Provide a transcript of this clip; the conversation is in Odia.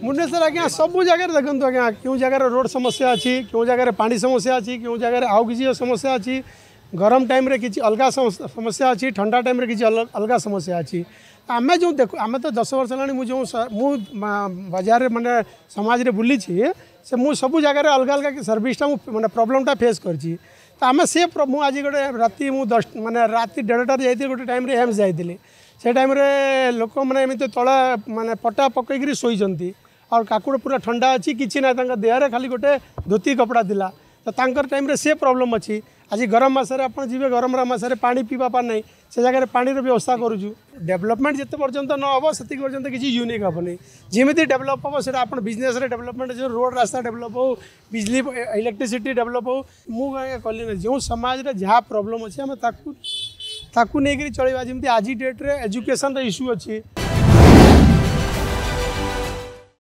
ଭୁବନେଶ୍ୱର ଆଜ୍ଞା ସବୁ ଜାଗାରେ ଦେଖନ୍ତୁ ଆଜ୍ଞା, କେଉଁ ଜାଗାରେ ରୋଡ଼ ସମସ୍ୟା ଅଛି, କେଉଁ ଜାଗାରେ ପାଣି ସମସ୍ୟା ଅଛି, କେଉଁ ଜାଗାରେ ଆଉ କିଛି ସମସ୍ୟା ଅଛି। ଗରମ ଟାଇମ୍ରେ କିଛି ଅଲଗା ସମସ୍ୟା ଅଛି, ଥଣ୍ଡା ଟାଇମ୍ରେ କିଛି ଅଲଗା ସମସ୍ୟା ଅଛି। ଆମେ ଯେଉଁ ଦେଖୁ, ଆମେ ତ 10 ବର୍ଷ ହେଲାଣି ମୁଁ ଯେଉଁ ମୁଁ ବଜାରରେ ମାନେ ସମାଜରେ ବୁଲିଛି, ସେ ମୁଁ ସବୁ ଜାଗାରେ ଅଲଗା ଅଲଗା ସର୍ଭିସଟା ମୁଁ ମାନେ ପ୍ରୋବ୍ଲେମଟା ଫେସ୍ କରିଛି। ତ ଆମେ ସେ ମୁଁ ଆଜି ଗୋଟେ ରାତି ମୁଁ 10 ମାନେ ରାତି 1:30ରେ ଯାଇଥିଲି, ଗୋଟେ ଟାଇମ୍ରେ ଏମ୍ସ ଯାଇଥିଲି। ସେ ଟାଇମ୍ରେ ଲୋକମାନେ ଏମିତି ତଳେ ମାନେ ପଟା ପକେଇକିରି ଶୋଇଛନ୍ତି, ଆଉ କାକୁଡ଼ ପୁରା ଥଣ୍ଡା ଅଛି, କିଛି ନାହିଁ, ତାଙ୍କ ଦେହରେ ଖାଲି ଗୋଟେ ଧୋତି କପଡ଼ା ଥିଲା। ତ ତାଙ୍କର ଟାଇମ୍ରେ ସେ ପ୍ରୋବ୍ଲେମ୍ ଅଛି। ଆଜି ଗରମ ମାସରେ ଆପଣ ଯିବେ, ଗରମ ମାସରେ ପାଣି ପିଇବା ପାଇଁ ନାହିଁ, ସେ ଜାଗାରେ ପାଣିର ବ୍ୟବସ୍ଥା କରୁଛୁ। ଡେଭଲପମେଣ୍ଟ ଯେତେ ପର୍ଯ୍ୟନ୍ତ ନ ହେବ ସେତିକି ପର୍ଯ୍ୟନ୍ତ କିଛି ୟୁନିକ୍ ହେବନି। ଯେମିତି ଡେଭଲପ୍ ହେବ ସେଇଟା ଆପଣ ବିଜନେସ୍ରେ ଡେଭଲପମେଣ୍ଟ, ଯେଉଁ ରୋଡ଼ ରାସ୍ତା ଡେଭଲପ୍ ହେଉ, ବିଜଲି ଇଲେକ୍ଟ୍ରିସିଟି ଡେଭଲପ୍ ହେଉ। ମୁଁ ଆଜ୍ଞା କଲି ନା, ଯେଉଁ ସମାଜରେ ଯାହା ପ୍ରୋବ୍ଲେମ୍ ଅଛି ଆମେ ତାକୁ ନେଇକରି ଚଳିବା। ଯେମିତି ଆଜି ଡେଟ୍ରେ ଏଜୁକେସନ୍ର ଇସ୍ୟୁ ଅଛି।